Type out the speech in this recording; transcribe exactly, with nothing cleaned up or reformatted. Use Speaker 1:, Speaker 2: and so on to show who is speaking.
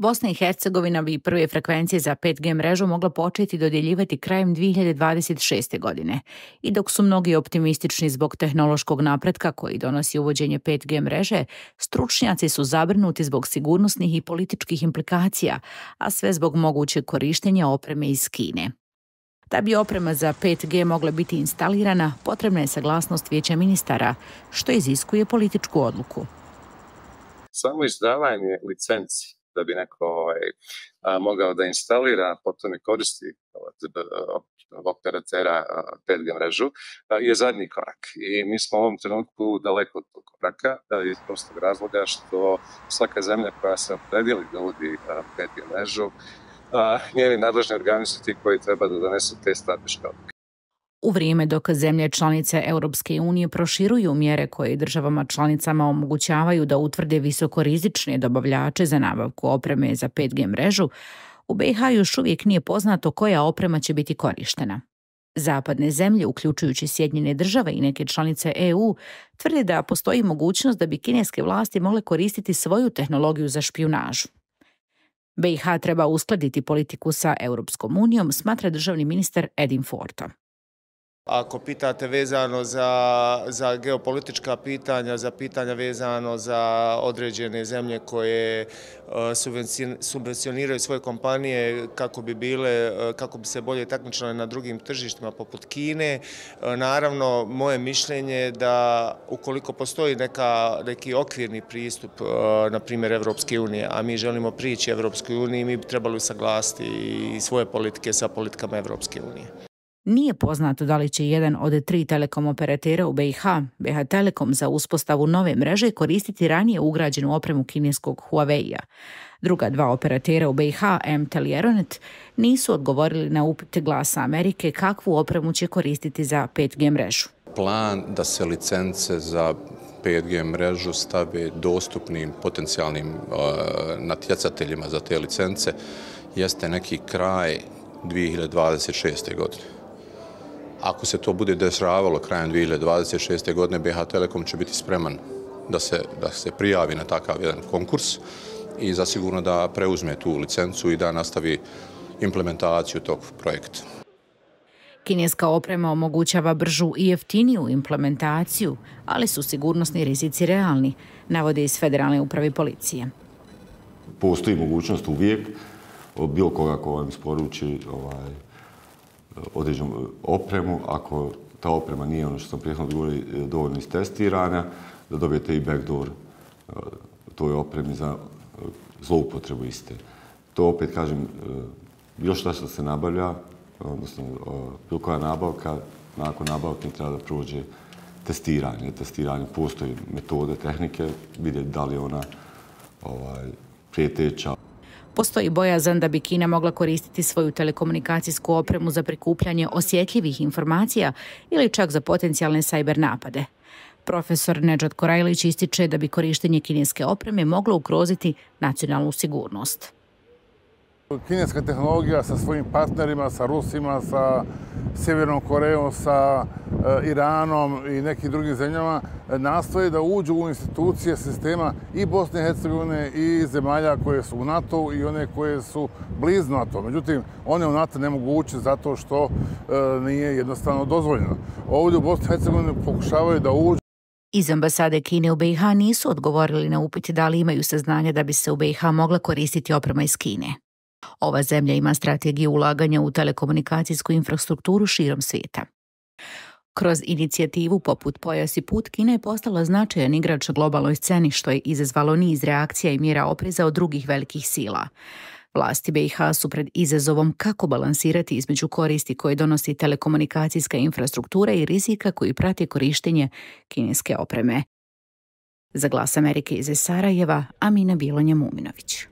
Speaker 1: Bosna i Hercegovina bi prve frekvencije za pet G mrežu mogla početi dodjeljivati krajem dvije hiljade dvadeset šeste. godine. I dok su mnogi optimistični zbog tehnološkog napretka koji donosi uvođenje pet G mreže, stručnjaci su zabrinuti zbog sigurnosnih i političkih implikacija, a sve zbog mogućeg korištenja opreme iz Kine. Da bi oprema za pet G mogla biti instalirana, potrebna je saglasnost Vijeća ministara, što iziskuje političku odluku.
Speaker 2: Samo izdavanje licenci da bi neko ovaj, a, mogao da instalira, potom i koristi operatera pet G mrežu, a, je zadnji korak. I mi smo u ovom trenutku daleko od tog koraka, iz prostog razloga što svaka zemlja koja se opredijeli da uvodi pet G mrežu, a, njeni nadležni organi su ti koji treba da donesu te strateške odluke.
Speaker 1: U vrijeme dok zemlje članice Europske unije proširuju mjere koje državama članicama omogućavaju da utvrde visokorizične dobavljače za nabavku opreme za pet G mrežu, u B i H još uvijek nije poznato koja oprema će biti korištena. Zapadne zemlje, uključujući Sjedinjene države i neke članice E U, tvrde da postoji mogućnost da bi kineske vlasti mogle koristiti svoju tehnologiju za špijunažu. B i H treba uskladiti politiku sa Europskom unijom, smatra državni ministar Edin Forto.
Speaker 3: Ako pitate vezano za, za geopolitička pitanja, za pitanja vezano za određene zemlje koje subvencioniraju svoje kompanije kako bi bile, kako bi se bolje takmičile na drugim tržištima poput Kine, naravno moje mišljenje je da ukoliko postoji neka, neki okvirni pristup, na primjer Evropske unije, a mi želimo prići Evropskoj uniji, mi bi trebali usaglasiti i svoje politike sa politikama Evropske unije.
Speaker 1: Nije poznato da li će jedan od tri telekom operatera u B i H, B H Telekom, za uspostavu nove mreže koristiti ranije ugrađenu opremu kineskog Huawei-a. Druga dva operatera u B i H, M T E L i Euronet, nisu odgovorili na upite Glasa Amerike kakvu opremu će koristiti za pet G mrežu.
Speaker 4: Plan da se licence za pet G mrežu stave dostupnim potencijalnim uh, natjecateljima za te licence jeste neki kraj dvije hiljade dvadeset šeste. godine. Ako se to bude dešavalo krajem dvije hiljade dvadeset šeste. godine, B H Telekom će biti spreman da se, da se prijavi na takav jedan konkurs i zasigurno da preuzme tu licencu i da nastavi implementaciju tog projekta.
Speaker 1: Kineska oprema omogućava bržu i jeftiniju implementaciju, ali su sigurnosni rizici realni, navode iz Federalne uprave policije.
Speaker 5: Postoji mogućnost uvijek od bilo koga ko vam isporuči ovaj, određenu opremu, ako ta oprema nije ono što sam prethodno govorio dovoljno istestirana, da dobijete i backdoor toj opremi za zloupotrebu iste. To opet kažem, bilo što što se nabavlja, odnosno bilo koja nabavka, nakon nabavke treba da prođe testiranje. Testiranje postoji metode, tehnike, vidjeti da li je ona ovaj, prijeteća.
Speaker 1: Postoji bojazan da bi Kina mogla koristiti svoju telekomunikacijsku opremu za prikupljanje osjetljivih informacija ili čak za potencijalne sajber napade. Profesor Nedžad Korajlić ističe da bi korištenje kineske opreme moglo ugroziti nacionalnu sigurnost.
Speaker 6: Kineska tehnologija sa svojim partnerima, sa Rusima, sa Sjevernom Korejom, sa Iranom i nekim drugim zemljama nastoje da uđu u institucije sistema i Bosne i Hercegovine i zemalja koje su u NATO i one koje su blizu NATO. Međutim, one u NATO ne mogu ući zato što nije jednostavno dozvoljeno. Ovdje u Bosni i Hercegovini pokušavaju da uđu.
Speaker 1: Iz ambasade Kine u B i H nisu odgovorili na upit da li imaju saznanja da bi se u B i H mogla koristiti oprema iz Kine. Ova zemlja ima strategiju ulaganja u telekomunikacijsku infrastrukturu širom svijeta. Kroz inicijativu poput Pojas i put, Kina je postala značajan igrač na globalnoj sceni, što je izazvalo niz reakcija i mjera opreza od drugih velikih sila. Vlasti B i H su pred izazovom kako balansirati između koristi koje donosi telekomunikacijska infrastruktura i rizika koji prati korištenje kineske opreme. Za Glas Amerike iz Sarajeva, Amina Bilonja Muminović.